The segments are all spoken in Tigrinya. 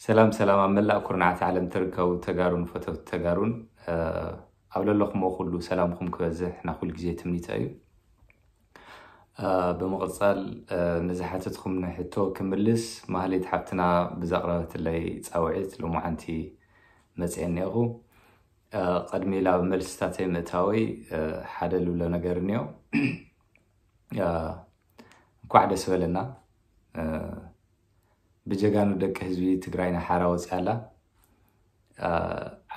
ሰላም ሰላም፣ ኣብ መላእ ኩርናዓት ዓለም ትርከቡ ተጋሩን ፈተውቲ ተጋሩን ኣብ ለለኹሞ ኩሉ ሰላምኩም ክበዝሕ ናይ ኩሉ ግዜ ትምኒተ እዩ። ብምቕጻል ንዝሓተትኩም ሕቶ ክምልስ ማህሌት ሓብትና ብዘቕረበትለይ ጻውዒት ሎማዓንቲ መጽኤ እኒአኹ። ቅድሚ ላብ መልስታተይ ምእታወይ ሓደ ልብሎ ነገር እኒኦ። እንኳዕ ደስ በለና። ብጀጋኑ ደቂ ህዝቢ ትግራይና ሓራ ወፂኣላ።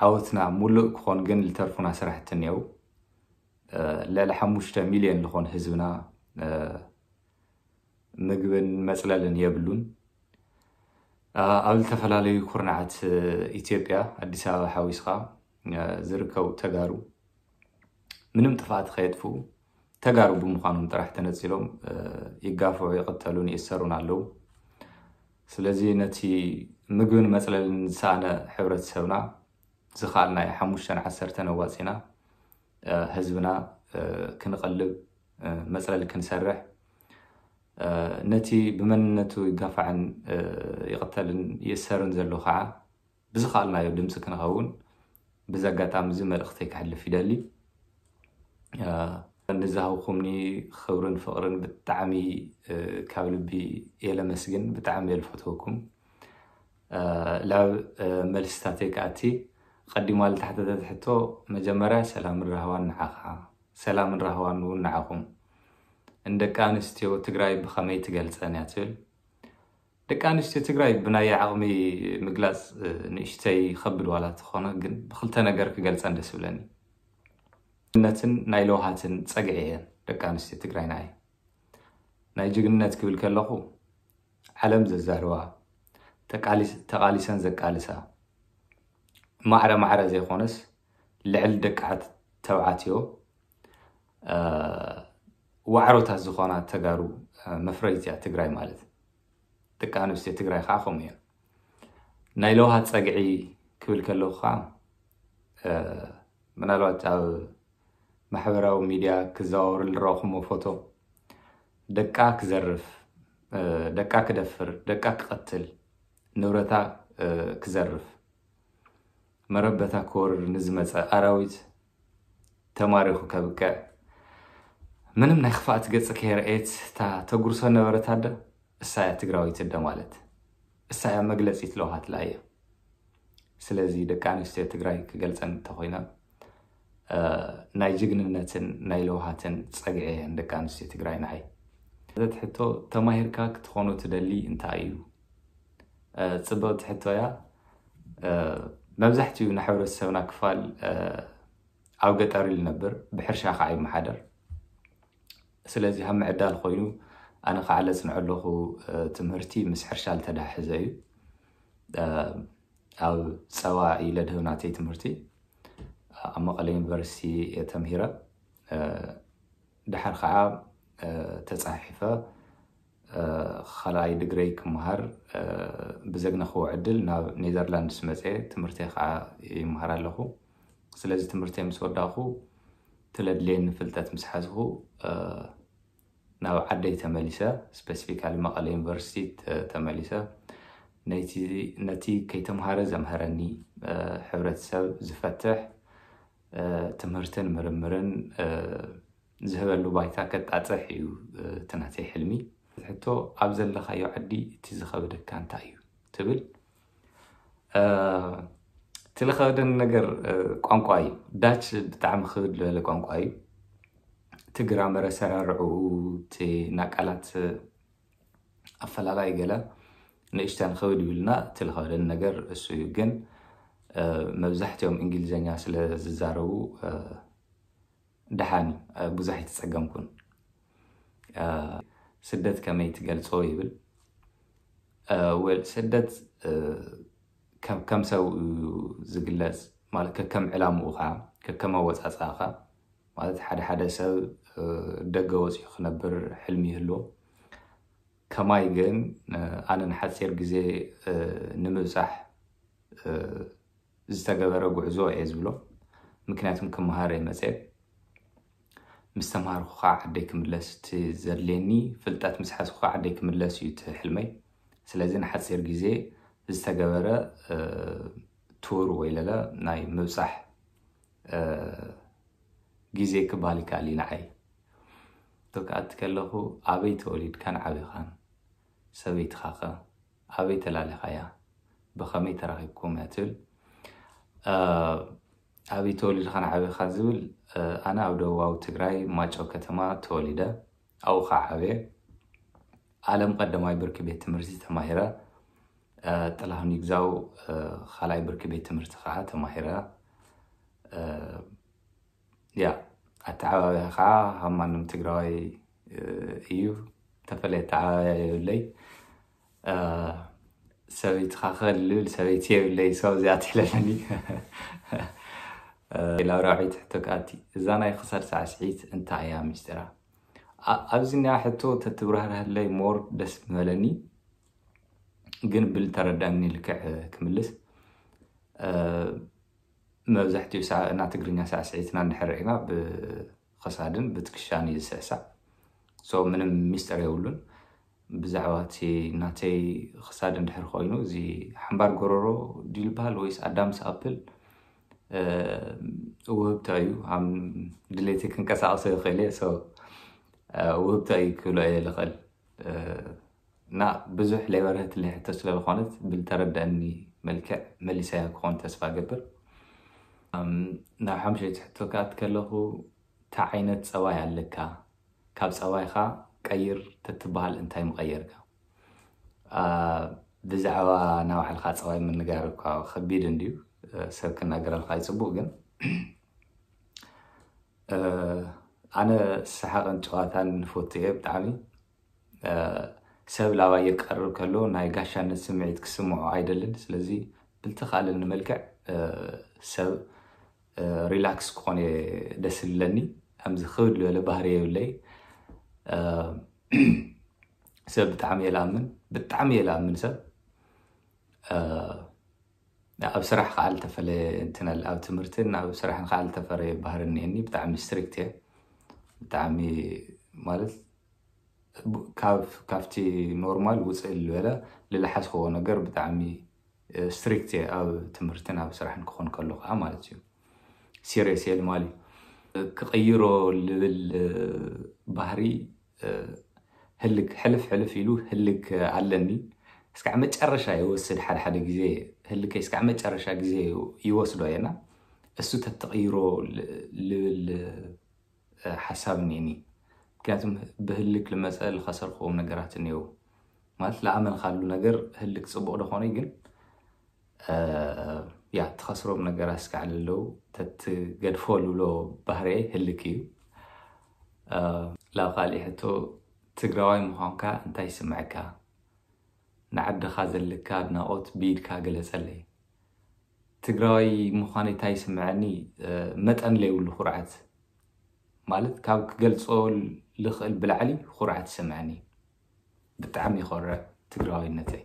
ዓወትና ሙሉእ ክኾን ግን ልተርፉና ስራሕቲ እኒአው። ልዕሊ ሓሙሽተ ሚልዮን ዝኾን ህዝብና ምግብን መፅለልን የብሉን። ኣብ ዝተፈላለዩ ኩርናዓት ኢትዮጵያ ኣዲስ ኣበባ ሓዊስካ ዝርከቡ ተጋሩ ምንም ጥፍኣት ከየጥፍኡ ተጋሩ ብምዃኖም ጥራሕ ተነፂሎም ይጋፍዑ፣ ይቕተሉን ይእሰሩን ኣለዉ። ስለዚ ነቲ ምግብን መፅለልን ዝሰኣነ ሕብረተሰብና ዝኸኣልናዮ ሓሙሽተን ዓሰርተን ኣዋፂና ህዝብና ክንቐልብ መፅለሊ ክንሰርሕ ነቲ ብመንነቱ ይጋፋዕን ይቕተልን ይእሰርን ዘሎ ከዓ ብዝኸኣልናዮ ድምፂ ክንኸውን ብዚ ኣጋጣሚ እዚ መልእኽተይ ከሕልፍ ይደሊ። ንዝሃብኩምኒ ክብርን ፍቕርን ብጣዕሚ ካብ ልቢ እየ ለመስግን። ብጣዕሚ እየ ልፈትወኩም። ላብ መልስታተይ ክኣቲ ቀዲማ ልተሓተተት ሕቶ መጀመርያ ሰላምን ራህዋን ንዓኻ፣ ሰላምን ራህዋን እውን ንዓኹም። ንደቂ ኣንስትዮ ትግራይ ብኸመይ ትገልፀን እያ ትብል። ደቂ ኣንስትዮ ትግራይ ብናይ ዓቕሚ ምግላፅ ንእሽተይ ከብድ ዋላ ተኾነ ግን ብክልተ ነገር ክገልፀን ደስ ብለኒ። ነትን ናይ ለውሃትን ፀግዒ እየን ደቂ ኣንስትዮ ትግራይ ንዓይ። ናይ ጅግንነት ክብል ከለኹ ዓለም ዘዛርባ ተቃሊስ- ተቃሊሰን ዘቃልሳ ማዕረ ማዕረ ዘይኮነስ ልዕሊ ደቂ ዓት- ተባዕትዮ ዋዕሮታት ዝኾና ተጋሩ መፍረይት እያ ትግራይ ማለት። ደቂ ኣንስትዮ ትግራይ ከዓ ከምኡ እየን። ናይ ለውሃት ፀግዒ ክብል ከለኹ ከዓ ምናልባት ኣብ ማሕበራዊ ሚድያ ክዘዋወር ዝረእኹሞ ፎቶ ደቃ ክዘርፍ፣ ደቃ ክደፍር፣ ደቃ ክቐትል፣ ንብረታ ክዘርፍ፣ መረበታ ክወርር ንዝመፀ ኣራዊት ተማሪኹ ከብቅዕ፣ ምንም ናይ ክፍኣት ገፂ ከየርኤት እታ ተጉርሶ ነበረት ኣደ እሳ እያ ትግራዊት ኣደ ማለት። እሳ እያ መግለፂት ለውሃት ለኣየ። ስለዚ ደቂ ኣንስትዮ ትግራይ ክገልፀን እንተኮይነ ናይ ጅግንነትን ናይ ለውሃትን ፀግዒ እየን ደቂ ኣንስትዮ ትግራይ ንዓይ። ዘት ሕቶ ተማሂርካ ክትኾኖ ትደሊ እንታይ እዩ? ፅብቕቲ ሕቶ እያ። መብዛሕትኡ ናይ ሕብረተሰብና ክፋል ኣብ ገጠር እዩ ዝነብር፣ ብሕርሻ ከዓ ይመሓደር። ስለዚ ካብ ምዕዳል ኮይኑ ኣነ ከዓ ለፅንዖ ኣለኹ ትምህርቲ ምስ ሕርሻ ዝተዳሕዘ እዩ። ኣብ ፀባ እዩ ለድህብ ናተይ ትምህርቲ። ኣብ መቐለ ዩኒቨርሲቲ እየ ተምሂረ። ድሓር ከዓ ተፃሒፈ ካልኣይ ድግረይ ክመሃር ብዘግነኽዎ ዕድል ናብ ኔዘርላንድስ መፀ ትምህርተይ ከዓ ይመሃር ኣለኹ። ስለዚ ትምህርተይ ምስ ወዳእኹ ትለድልየኒ ፍልጠት ምስ ሓዝኹ ናብ ዓደይ ተመሊሰ፣ ስፔሲፊካሊ መቐለ ዩኒቨርሲቲ ተመሊሰ ነቲ ከይተምሃረ ዘምሀረኒ፣ ሕብረተሰብ ዝፈትሕ፣ ትምህርትን ምርምርን ዝህበሉ ባይታ ከጣፅሕ እዩ እቲ ናተይ ሕልሚ። ሕቶ ኣብ ዘለኻዮ ዓዲ እቲ ዝኸበደካ እንታይ እዩ ትብል? እቲ ዝኸበደኒ ነገር ቋንቋ እዩ። ዳች ብጣዕሚ ክብድ ዝበለ ቋንቋ እዩ። እቲ ግራመር ኣሰራርዕኡ፣ እቲ ናቃላት ኣፈላላይ ገለ ንእሽተን ክብድ ይብልና፣ እቲ ዝኸበደኒ ነገር እሱ እዩ። ግን መብዛሕትኦም እንግሊዝኛ ስለ ዝዛረቡ ደሓን እዩ፣ ብዙሕ ኣይተፀገምኩን። ስደት ከመይ ትገልፆ ይብል። ወል ስደት ከም ሰብ እዩ ዝግለፅ፣ ማለት ከከም ዕላምኡ ከዓ ከከም ኣወፃፅኣኻ። ማለት ሓደ ሓደ ሰብ ደገ ወፂኡ ክነብር ሕልሚ ይህልዎ። ከማይ ግን ኣነ ንሓፂር ግዜ ንምብፃሕ ዝተገበረ ጉዕዞ እየ ዝብሎ። ምክንያቱም ክመሃር እየ መፅየ። ምስ ተምሃርኩ ከዓ ዓደይ ክምለስ እቲ ዘድልየኒ ፍልጠት ምስ ሓዝኩ ከዓ ዓደይ ክምለስ እዩ እቲ ሕልመይ። ስለዚ ንሓፂር ግዜ ዝተገበረ ቱር ወይ ለለ ናይ ምብፃሕ ግዜ ክበሃል ይከኣል እዩ። ንዓይ ተክኣት ከለኹ ኣበይ ተወሊድካን ዓቢኻን፣ ሰበይትኻኸ ኣበይ ተላሊኻያ፣ ብኸመይ ተራኺብኩም እያ ትብል። ኣበይ ተወሊድኻን ዓቢኻ ዝብል፣ ኣነ ኣብ ደቡባዊ ትግራይ ማጨው ከተማ ተወሊደ ኣብኡ ከዓ ዓብየ። ኣለም ቀዳማይ ብርኪ ቤት ትምህርቲ ተማሂረ። ጥላሁን ይግዛው ካልኣይ ብርኪ ቤት ትምህርቲ ከዓ ተማሂረ። ያ ኣተዓባብያ ከዓ ካብ ማንም ትግራዋይ እዩ። ተፈለየ ኣተዓባብያ የብለይ። ሰበይትኻ ከልብል ሰበይቲ የብለይ። ሰው እዚኣ ትሕለፈኒ። ላብራዊት ሕቶ ከኣቲ፣ እዛ ናይ ክሳድ ሳዕስዒት እንታይ እያ ሚስጢራ? ኣብዚ ኒያ ሕቶ ተትብራህርህለይ ሞር ደስ ምበለኒ፣ ግን ብልተረዳኒ ልክዕ ክምልስ። መብዛሕትኡ ሳዕ እና ትግርኛ ሳዕስዒትና እንድሕር ርኢና ብኸሳድን ብትክሻን እዩ ዝስዕሳዕ። ሶ ምንም ሚስጥር የብሉን። ብዛዕባ እቲ ናተይ ክሳድ እንድሕር ኮይኑ፣ እዚ ሓምባር ጎረሮ ድዩ ዝበሃል ወይስ ኣዳምስ ኣፕል ውህብቶ እዩ። ድሌተይ ክንቀሳቀሶ ይኽእል እየ። ውህብቶ እዩ ክብሎ እየ ልኽእል። እና ብዙሕ ሌበርህት ሕቶ ስለዝኾነት ብልተረደአኒ መልክዕ መሊሰያ ክኾን ተስፋ ገብር። ናብ ሓምሸይቲ ሕቶ ከኣት ከለኹ፣ እንታይ ዓይነት ፀባይ ኣለካ? ካብ ፀባይካ ቀይር ተትበሃል እንታይ ምቐየርካ? ብዛዕባ ናይ ባዕልካ ፀባይ ምንጋር እኳ ከቢድ እንድዩ። ሰብ ክናገረልካ ይፅቡቅ፣ ግን ኣነ ሰሓቅን ጨዋታን ንፈቱ እየ ብጣዕሚ። ሰብ ላባይ ይቀርብ ከሎ ናይ ጋሻነት ስምዒት ክስምዖ ኣይደልን። ስለዚ ብልተኻለኒ መልክዕ ሰብ ሪላክስ ክኾን እየ ደስ ዝብለኒ። ከምዚ ክብድ ዝበለ ባህሪ የብለይ። ሰብ ብጣዕሚ እየ ልኣምን፣ ብጣዕሚ እየ ልኣምን ሰብ። ኣብ ስራሕ ከዓ ልተፈለየ እንትነል ኣብ ትምህርትን ኣብ ስራሕን ከዓ ልተፈለየ ባህሪ እኒአኒ። ብጣዕሚ ስትሪክት እየ። ብጣዕሚ ማለት ካብቲ ኖርማል ውፅእ ዝበለ ልልሓዝክዎ ነገር ብጣዕሚ ስትሪክት እየ ኣብ ትምህርትን ኣብ ስራሕን ክኾን ከሎ ከዓ ማለት እዩ። ሲሪየስ እየ ልማሊ ክቕይሮ ልብል ባህሪ ህልክ ሕልፍ ሕልፍ ኢሉ ህልክ ኣለኒ። እስካዕ መጨረሻ ይወስድ ሓደ ሓደ ግዜ ህልከይ እስካዕ መጨረሻ ግዜ ይወስዶ እየና እሱ ተትቕይሮ ልብል ሓሳብ እኒኒ። ምክንያቱም ብህልክ ልመፀ ልኸሰርክዎም ነገራት እኒው ማለት ለኣመንካሉ ነገር ህልክ ፅቡቅ ደኾነ ግን ያ ትኸስሮም ነገራት እስካዕ ለለው ተትገድፎ ልብሎ ባህርየ ህልክ እዩ። ላብ ካሊእ ሕቶ ትግራዋይ ምዃንካ እንታይ ይስምዐካ? ንዓድኻ ዘለካ ኣድናቆት ብኢድካ ገለጸለይ። ትግራዋይ ምዃነይ እንታይ ይስምዐኒ? መጠን ለይብሉ ኩርዓት ማለት ካብ ክገልጾ ልኽእል ብላዕሊ ኩርዓት ይስምዐኒ። ብጣዕሚ ይኾርዕ ትግራዋይነተይ።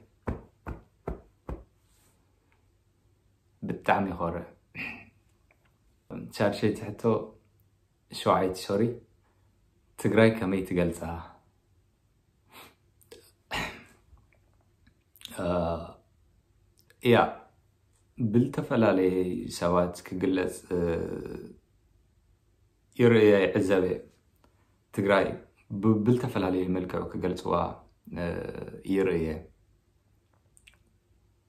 ብጣዕሚ ይኾርዕ። ሻድሸይቲ ሕቶ ሸውዓይቲ ሶሪ ትግራይ ከመይ ትገልፃ? እያ ብልተፈላለየ ሰባት ክግለፅ ይርእየ ይዕዘበ። ትግራይ ብልተፈላለየ መልክዑ ክገልፅዋ ይርእየ።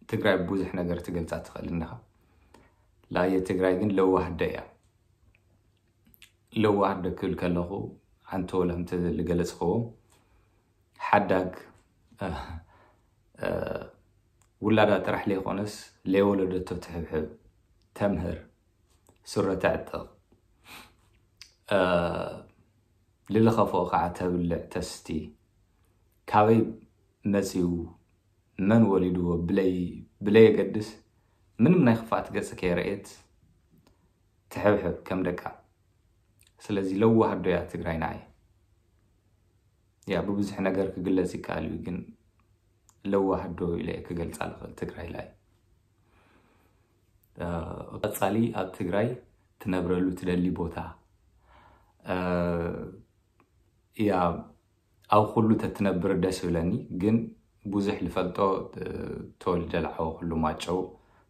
ትግራይ ብዙሕ ነገር ትገልፃ ትኽእል እንዲኻ። ላየ ትግራይ ግን ለዋህደ እያ። ለዋህደ ክብል ከለኹ ኣንተ ወላ እንተ ዝገለፅኽዎ ሓዳግ ውላዳ ጥራሕ ለይኮነስ ለይወለደቶ ትሕብሕብ፣ ተምህር፣ ስረ ተዕጥቕ፣ ልልኸፍኦ ከዓ ተብልዕ ተስቲ፣ ካበይ መፂኡ መን ወሊድዎ ብለይ ብለየገድስ ምንም ናይ ክፍኣት ገፂ ከየረእየት ትሕብሕብ ከም ደቃ። ስለዚ ለዋህ ኣዶ እያ ትግራይ ንዓይ። ያ ብብዙሕ ነገር ክግለፅ ይከኣል እዩ፣ ግን ለዋህ ኣዶ ኢለ እየ ክገልፃ ልኽእል ትግራይ ላይ። ቀፃሊ ኣብ ትግራይ ትነብረሉ ትደሊ ቦታ እያ ኣብ ኩሉ ተትነብር ደስ ይብለኒ፣ ግን ብዙሕ ዝፈልጦ፣ ተወልደ ዝዓበኹሉ ማጨው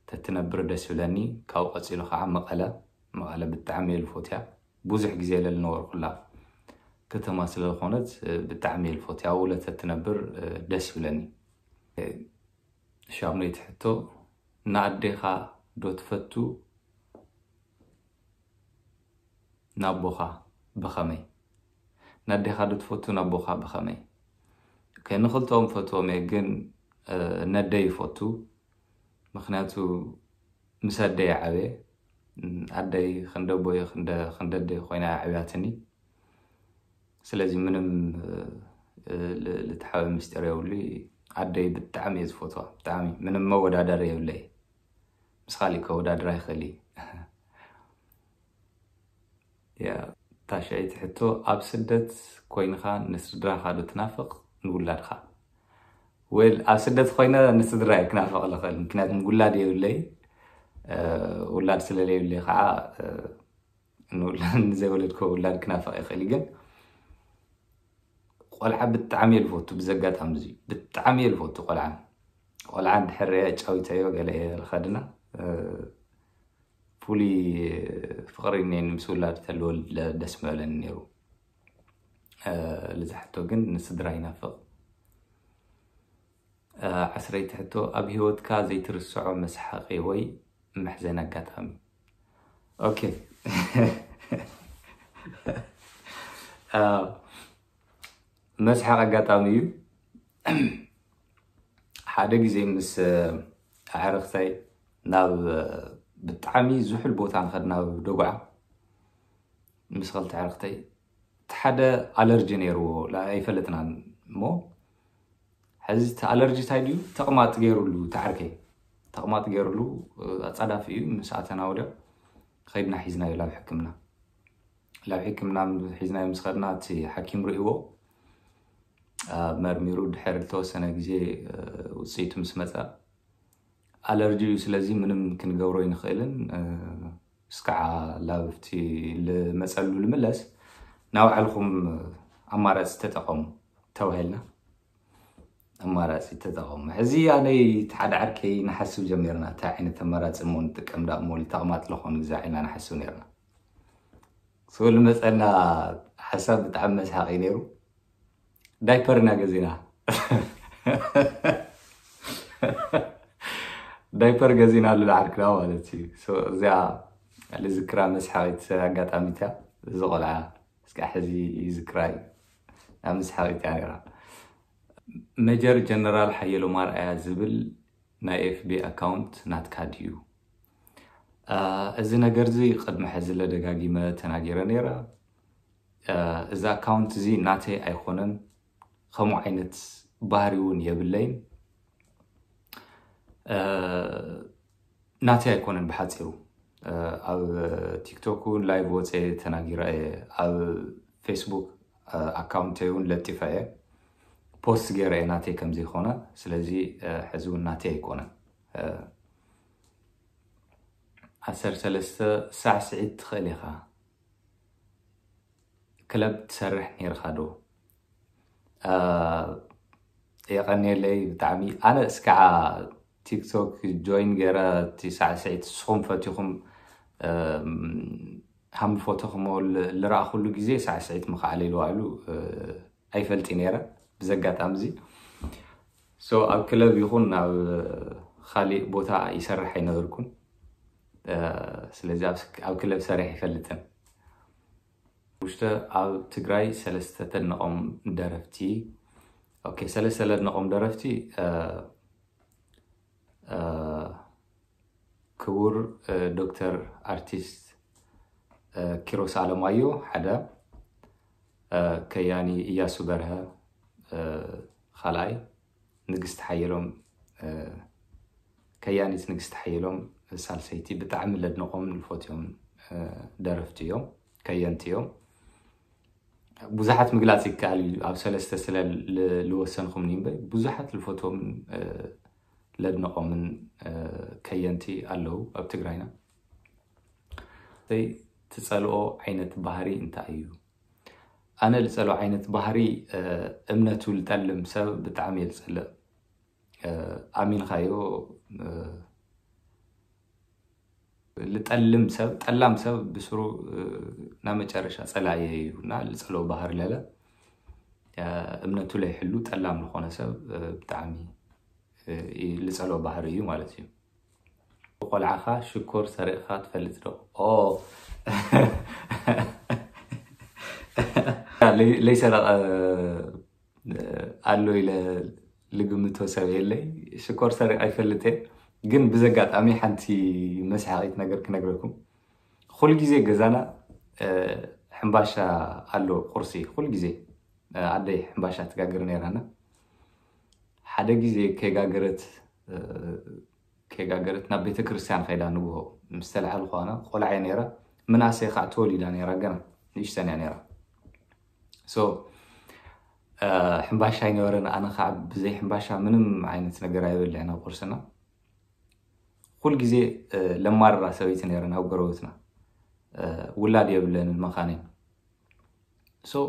ተትነብር ደስ ይብለኒ። ካብኡ ቀፂሉ ከዓ መቐለ። መቐለ ብጣዕሚ እየ ዝፎትያ። ብዙሕ ግዜ ለልነበርኩላ ከተማ ስለዝኾነት ብጣዕሚ እየ ዝፎትያ። ኣብኡ ለተትነብር ደስ ይብለኒ። ሻሙነይቲ ሕቶ፣ ንኣዴኻ ዶ ትፈቱ? ናቦኻ ብኸመይ? ናዴኻ ዶ ትፈቱ? ናቦኻ ብኸመይ? ንክልተኦም ፈትዎም እየ፣ ግን ነደይ ይፈቱ። ምክንያቱ ምስ ኣደይ ዓበየ። ኣደይ ክንደቦየ ክንደደይ ኮይና ዓብያትኒ። ስለዚ ምንም ልትሓበ ምስጢር የብሉ። ኣደይ ብጣዕሚ እየ ዝፈትዋ፣ ብጣዕሚ ምንም መወዳደሪ የብለይ። ምስ ካሊእ ከወዳድራ ይኽእል እዩ። ታሻይቲ ሕቶ፣ ኣብ ስደት ኮይንኻ ንስድራኻ ዶ ትናፍቕ ንውላድኻ? ወል ኣብ ስደት ኮይነ ንስድራ እየ ክናፍቕ ልኽእል፣ ምክንያቱ ውላድ የብለይ። ውላድ ስለለየብለይ ከዓ ንዘይወለድኮ ውላድ ክናፍቕ ይኽእል። ግን ቆልዓ ብጣዕሚ እየ ልፈቱ። ብዘጋጣሚ እዚ ብጣዕሚ እየ ልፈቱ ቆልዓ። ቆልዓ እንድሕር እየ ጫዊተዮ ገለ እየ ልኸድና። ፍሉይ ፍቕሪ እኒአኒ ምስ ውላድ ተልወልድ ደስ ምበለኒ ነይሩ። ልዛሕቶ ግን ንስድራ ይናፍቕ። ዓስረይቲ ሕቶ፣ ኣብ ህይወትካ ዘይትርስዖ መስሓቂ ወይ መሕዘን ኣጋጣሚ? ኦኬ። መስሓቅ ኣጋጣሚ እዩ። ሓደ ግዜ ምስ ኣዕርክተይ ናብ ብጣዕሚ ዝሑል ቦታ ንኸድ ናብ ደጉዓ ምስ ኸልተ ኣዕርክተይ፣ እቲ ሓደ ኣለርጂ ነይርዎ ኣይፈለጥናን እሞ ሕዚ እቲ ኣለርጂ እንታይ ድዩ? ተቕማጥ ገይሩሉ፣ እቲ ዓርከይ ተቕማጥ ገይሩሉ፣ ኣጻዳፊ እዩ። ምስ ኣተና ወዲያ ኸይድና ሒዝናዮ ላብ ሕክምና። ላብ ሕክምና ሒዝናዮ ምስ ኸድና፣ እቲ ሓኪም ርእይዎ፣ መርሚሩ፣ ድሕሪ ዝተወሰነ ግዜ ውፅኢቱ ምስ መፀ፣ ኣለርጂ እዩ፣ ስለዚ ምንም ክንገብሮ ይንኽእልን፣ እስካዓ ላብቲ ልመፀሉ ልምለስ፣ ናባዕልኹም ኣማራፂ ተጠቐሙ ተባሂልና። ኣማራፂ ተጠቐሙ። ሕዚ ኣነይ እቲ ሓደ ዓርከይ ንሓስብ ጀሚርና፣ እንታይ ዓይነት ኣማራፂ እሞ ንጥቀም ዳ እሞ፣ ተቕማጥ ለኾኑ ግዛ ኢልና ንሓስብ ነርና። ስኡ ልመፀና ሓሳብ ብጣዕሚ መስሓቂ ነይሩ። ዳይፐር ኢና ገዚና። ዳይፐር ገዚና ኣሉ ንዓርክና ማለት እዩ። እዚኣ ልዝክራ መስሓቂት ኣጋጣሚት እያ። እዚ ቆልዓ እስካ ሕዚ ይዝክራ እዩ። ናብ መስሓቂት እያ ነይራ። ሜጀር ጀነራል ሓየሎም ኣርኣያ ዝብል ናይ ኤፍቢ ኣካውንት ናትካ ድዩ? እዚ ነገር እዚ ቅድሚ ሕዚ ለደጋጊመ ተናጊረ ነይረ። እዚ ኣካውንት እዚ ናተይ ኣይኮነን፣ ከምኡ ዓይነት ባህሪ እውን የብለይን። ናተይ ኣይኮነን ብሓፂሩ። ኣብ ቲክቶክ እውን ላይቭ ወፀ ተናጊረ እየ። ኣብ ፌስቡክ ኣካውንተይ እውን ለጢፈ እየ፣ ፖስት ገይረ እየ ናተይ ከምዘይኮነ። ስለዚ ሕዚ እውን ናተይ ኣይኮነን። ዓሰርተ ሰለስተ ሳዕስዒት ትኽእል ኢኻ። ክለብ ትሰርሕ ነይርካ ዶ? የቐንየለይ ብጣዕሚ። ኣነ እስካዓ ቲክቶክ ጆይን ገይረ እቲ ሳዕስዒት ንስኹም ፈቲኹም ሃምፎቶኹም ልረኣኹሉ ግዜ ሳዕስዒት ምኽዓለ ኢሉ ባዕሉ ኣይፈልጥ ነይረ። ብዘጋጣሚ እዚ ሶ ኣብ ክለብ ይኹን ኣብ ካሊእ ቦታ ይሰርሕ ኣይነበርኩን። ስለዚ ኣብ ክለብ ሰሪሕ ይፈልጥን። ውሽተ ኣብ ትግራይ ሰለስተ ተድንቖም ደረፍቲ። ኦኬ፣ ሰለስተ ለድንቖም ደረፍቲ፣ ክቡር ዶክተር ኣርቲስት ኪሮስ ኣለማዮ ሓደ፣ ከያኒ እያሱ በርሀ ካልኣይ፣ ንግስቲ ሓየሎም፣ ከያኒት ንግስቲ ሓየሎም ሳልሰይቲ። ብጣዕሚ ለድንቖም ልፎትዮም ደረፍቲ እዮም፣ ከየንቲ እዮም። ብዙሓት ምግላፅ ይከኣል እዩ፣ ኣብ ሰለስተ ስለ ልወሰንኹም እምበር ብዙሓት ልፈትዎም ለድንቖምን ከየንቲ ኣለዉ ኣብ ትግራይና። ትፀልኦ ዓይነት ባህሪ እንታይ እዩ? ኣነ ልፀልኦ ዓይነት ባህሪ፣ እምነቱ ልጠልም ሰብ ብጣዕሚ እየ ልፀልእ። ኣሚንካዮ። ልጠልም ሰብ፣ ጠላም ሰብ ብስሩ ናብ መጨረሻ ጸላየ እዩ እና ልጸሎ ባህር ለለ እምነቱ ለይሕሉ ጠላም ዝኾነ ሰብ ብጣዕሚ ልጸሎ ባህር እዩ ማለት እዩ። ቆልዓኻ ሽኮር ሰሪቕኻ ትፈልጥ ዶ? ኦ ለይሰረቐ ኣሎ ኢለ ልግምቶ ሰብ የለይ። ሽኮር ሰሪቕ ኣይፈልጥ እየ። ግን ብዘጋጣሚ ሓንቲ መስሓቂት ነገር ክነግረኩም። ኩል ግዜ ገዛና ሕምባሻ ኣሎ፣ ቁርሲ ኩል ግዜ ኣደይ ሕምባሻ ትጋግር ነይራና። ሓደ ግዜ ከይጋገረት ከይጋገረት ናብ ቤተ ክርስቲያን ከይዳ ንግሆ ምስ ተለዓሉ ከዋና ቆልዓ ነይራ። ምናሰይ ከዓ ተወሊዳ ነይራ፣ ገና ንእሽተን እያ ነይራ። ሶ ሕምባሻ ኣይነበረን። ኣነ ከዓ ብዘይ ሕምባሻ ምንም ዓይነት ነገር ኣይበልዕን ኣብ ቁርስና። ኩል ግዜ ለማርራ ሰበይቲ ነይረን ኣብ ጎረቤትና። ውላድ የብለንን መኻነይ። ሶ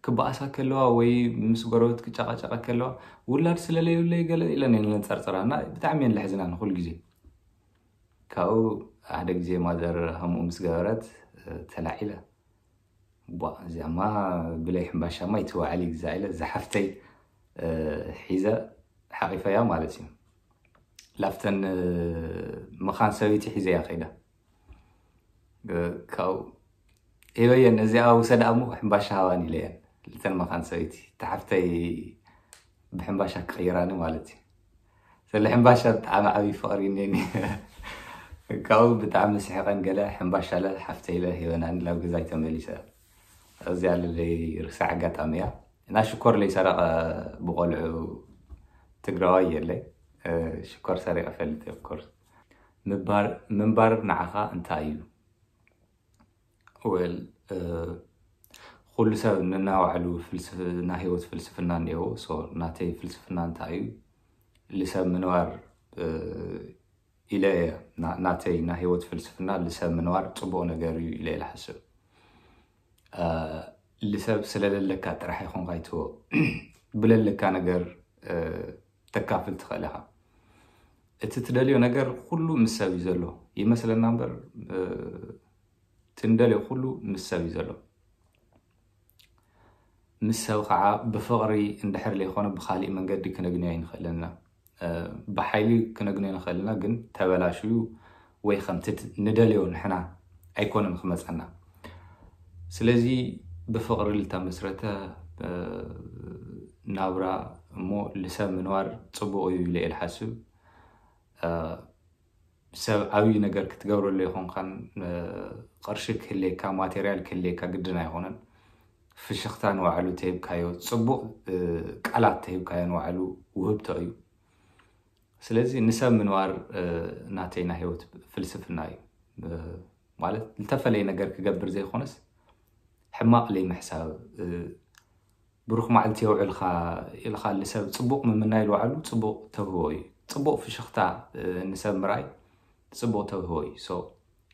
ክበኣሳ ከለዋ ወይ ምስ ጎረቤት ክጨቃጨቃ ከለዋ ውላድ ስለለይብለይ ገለ ኢለን እየን ለንፀርፅራ እና ብጣዕሚ እየን ለሕዝና ንኩል ግዜ። ካብኡ ሓደ ግዜ ማዘር ከምኡ ምስ ገበረት ተላዒለ። ቧ እዚኣማ ብለይ ሕምባሻማ ይትወዓል ይግዛእ ኢለ ዝሓፍተይ ሒዘ ሓቂፈያ ማለት እዩ። ላፍተን መኻን ሰበይቲ ሒዘያ ከይዳ ካብኡ ሂበየን፣ እዚኣ ውሰዳ እሞ ሕምባሻ ሃባን ኢለየን። ልተን መኻን ሰበይቲ ተሓፍተይ ብሕምባሻ ክቕይራኒ ማለት እዩ። ስለ ሕምባሻ ብጣዕሚ ዓብዪ ፍቕሪ እኔኒ። ካብኡ ብጣዕሚ ስሕቐን ገለ ሕምባሻ ለ ሓፍተይ ለ ሂበናኒ ላብ ገዛይ ተመሊሰ። እዚኣ ለለይ ርሳዕ ኣጋጣሚ እያ። እና ሽኮር ለይሰረቐ ብቆልዑ ትግራዋይ የለይ። ሽኮር ሰሪቐ ፈልጥ ኦፍኮርስ። ምንባር ንዓኻ እንታይ እዩ? ወል ኩሉ ሰብ ንናባዕሉ ናይ ህይወት ፍልስፍና እኒአዎ። ናተይ ፍልስፍና እንታይ እዩ? ልሰብ ምንባር ኢለ እየ ናተይ ናይ ህይወት ፍልስፍና ልሰብ ምንባር ፅቡቕ ነገር እዩ ኢለ እየ ልሓስብ። ልሰብ ስለለለካ ጥራሕ ይኹንካ ይትዎ ብለለካ ነገር ተካፍል ትኽእል ኢኻ። እቲ ትደልዮ ነገር ኩሉ ምስ ሰብ እዩ ዘሎ ይመስለና እምበር እቲ ንደልዮ ኩሉ ምስ ሰብ እዩ ዘሎ። ምስ ሰብ ከዓ ብፍቕሪ እንድሕር ዘይኮነ ብካሊእ መንገዲ ክነግንዮ ኣይንኽእልን ኢና። ብሓይሊ ክነግንዮ ንኽእል ኢና፣ ግን ተበላሽዩ ወይ ከምቲ ንደልዮ ንሕና ኣይኮነን ክመፀና። ስለዚ ብፍቕሪ ልተመስረተ ናብራ እሞ ልሰብ ምንባር ፅቡቕ እዩ ኢለ እየ ልሓስብ። ሰብ ዓብዪ ነገር ክትገብረሉ ኣይኮንካን። ቅርሺ ክህልየካ ማቴርያል ክህልየካ ግድን ኣይኮነን። ፍሽኽታ ንባዕሉ ተሂብካዮ፣ ፅቡቕ ቃላት ተሂብካዮ ንባዕሉ ውህብቶ እዩ። ስለዚ ንሰብ ምንባር ናተይ ናይ ህይወት ፍልስፍና እዩ። ማለት ዝተፈለየ ነገር ክገብር ዘይኮነስ ሕማቕ ለይምሕሳብ ብሩኽ መዓልቲ የውዕልካ ኢልካ ልሰብ ፅቡቕ ምምናይ ልባዕሉ ፅቡቕ ተብህቦ እዩ። ፅቡቕ ፍሽኽታ ንሰብ ምርኣይ ፅቡቕ ተብህቦ እዩ። ሶ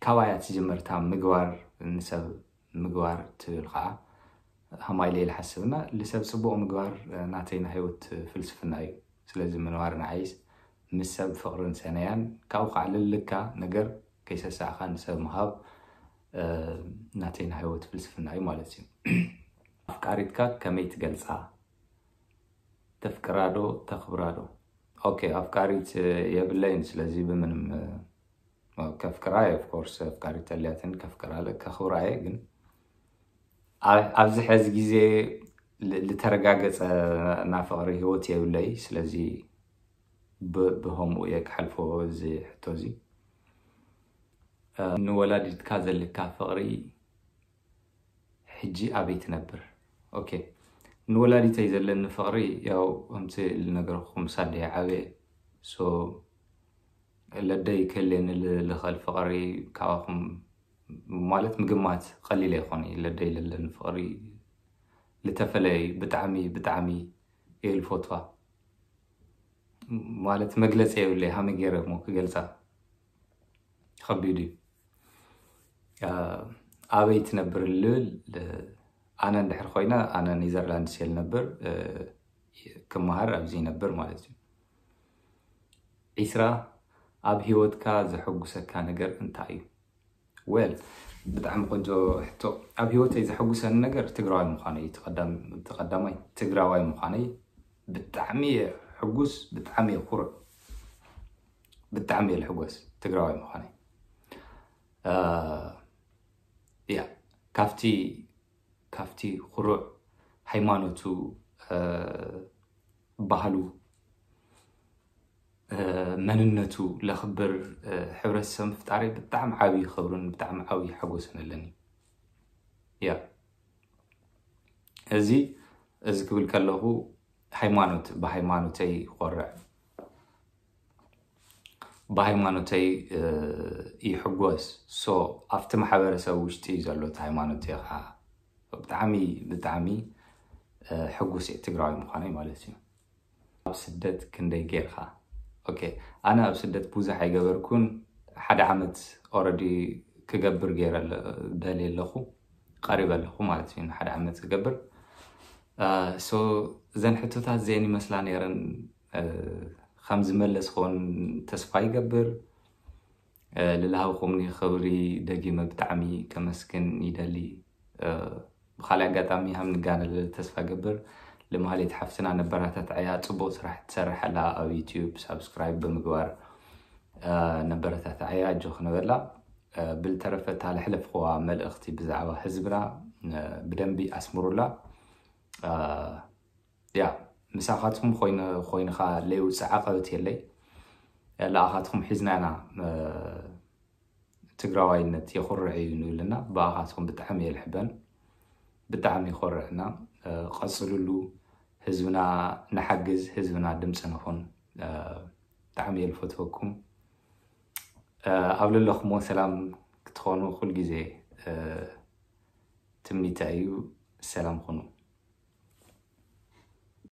ካባያ ትጅምር እታ ምግባር ንሰብ ምግባር ትብል ከዓ ሃማይ ኢለ ኢለ ሓስብና ልሰብ ፅቡቕ ምግባር ናተይ ናይ ህይወት ፍልስፍና እዩ። ስለዚ ምንባር ንዓይስ ምስ ሰብ ፍቕርን ሰነያን ካብኡ ከዓ ልልካ ነገር ከይሰሳዕካ ንሰብ ምሃብ ናተይ ናይ ህይወት ፍልስፍና እዩ ማለት እዩ። ኣፍቃሪትካ ከመይ ትገልፃ? ተፍቅራ ዶ ተኽብራ ዶ? ኦኬ ኣፍቃሪት የብለይን። ስለዚ ብምንም ከፍቅራ እየ ኦፍኮርስ ኣፍቃሪት ተልያትን ከፍቅራ ከኽብራ እየ። ግን ኣብዚ ሕዚ ግዜ ልተረጋገፀ ናይ ፍቕሪ ህይወት የብለይ። ስለዚ ብከምኡ እየ ክሓልፎ እዚ ሕቶ እዚ። ንወላዲትካ ዘለካ ፍቕሪ ሕጂ ኣበይ ትነብር? ኦኬ ንወላዲተይ ዘለኒ ፍቕሪ ያው ከምቲ ልነገርኩም ሳደይ ዓበየ። ሶ ለደይ ክህልየኒ ልኽእል ፍቕሪ ካባኹም ማለት ምግማት ቀሊል ኣይኮነ። ለደይ ለለኒ ፍቕሪ ልተፈለየ እዩ። ብጣዕሚ ብጣዕሚ እየ ልፈትዋ። ማለት መግለፂ የብለይ ሃመይ ገይረ እሞ ክገልፃ ከቢድ እዩ። ኣበይ ትነብር ልብል ኣነ እንድሕር ኮይነ ኣነ ኔዘርላንድስ እየ ልነብር። ክመሃር ኣብዚ ይነብር ማለት እዩ። ዒስራ፣ ኣብ ህይወትካ ዘሐጉሰካ ነገር እንታይ እዩ? Well፣ ብጣዕሚ ቆንጆ ሕቶ። ኣብ ህይወተይ ዘሐጉሰኒ ነገር ትግራዋይ ምዃነይ እዩ። እቲ ቀዳም-፣ እቲ ቀዳማይ ትግራዋይ ምዃነይ ብጣዕሚ እየ ሕጉስ፣ ብጣዕሚ እየ ኩሩዕ፣ ብጣዕሚ እየ ልሕጎስ ትግራዋይ ምዃነይ። እ፣ ያ፣ ካብቲ፣ ካብቲ ኩሩዕ ሃይማኖቱ፣ እ፣ ባህሉ፣ እ፣ መንነቱ ለኽብር፣ እ፣ ሕብረተሰብ ምፍጣረይ ብጣዕሚ ዓብዪ ክብርን ብጣዕሚ ዓብዪ ሓጎስን ኣለኒ። ያ፣ እዚ፣ እዚ ክብል ከለኹ ሃይማኖት፣ ብሃይማኖተይ ይኾርዕ፣ ብሃይማኖተይ፣ እ፣ ይሕጎስ። So፣ ኣብቲ ማሕበረሰብ ውሽጢ እዩ ዘሎ እቲ ሃይማኖት፣ እየ ከዓ ብጣዕሚ፣ ብጣዕሚ፣ እ፣ ሕጉስ እየ ትግራዋይ ምዃነይ ማለት እዩ። ኣብ ስደት ክንደይ ጌርካ? ኦኬ፣ ኣነ ኣብ ስደት ብዙሕ ኣይገበርኩን። ሓደ ዓመት already ክገብር ገይረ ኣለ-፣ ደልየ ኣለኹ፣ ቀሪበ ኣለኹ ማለት እዩ፣ ሓደ ዓመት ክገብር። እ፣ so፣ እዘን ሕቶታት እዚአን ይመስላ ነይረን። እ፣ ከም ዝመለስክዎን ተስፋ ይገብር። እ፣ ልልሃብኩምኒ ክብሪ ደጊመ ብጣዕሚ ከመስግን ይደሊ። እ፣ ብኻልእ ኣጋጣሚ ሃም ንጋነለ ተስፋ ገብር። ልማህሌት ሓፍትና ነበራታትዐያ፣ ጽቡቕ ስራሕ ትሰርሕ ኣላ ኣብ ዩትዩብ፣ ሳብስክራይብ ብምግባር፣ እ፣ ነበረታትዐያ፣ ኣጆኺ ንበላ። እ፣ ብልተረፈ እታ ለሕለፍኽዋ መልእኽቲ ብዛዕባ ህዝብና፣ እ፣ ብደንቢ ኣስምሩላ። እ፣ ያ፣ ምሳኻትኩም ኮይነ-፣ ኮይንኻ ለይውፅእ ዓቐበት የለይ። ለኣኻትኩም ሒዝና ኢና፣ እ፣ ትግራዋይነት የኹርዕ እዩ ንብልና። ብኣኻትኩም ብጣዕሚ እየ ልሕበን፣ ብጣዕሚ ይኾርዕና። እ፣ ቀፅሉሉ። ህዝብና ንሓግዝ፣ ህዝብና ድምፂ ንኹን። እ፣ ብጣዕሚ እየ ልፈትወኩም። እ፣ ኣብ ለለኹሞ ሰላም ክትኾኑ ኩል ግዜ፣ እ፣ ትምኒተይ እዩ። ሰላም ኩኑ።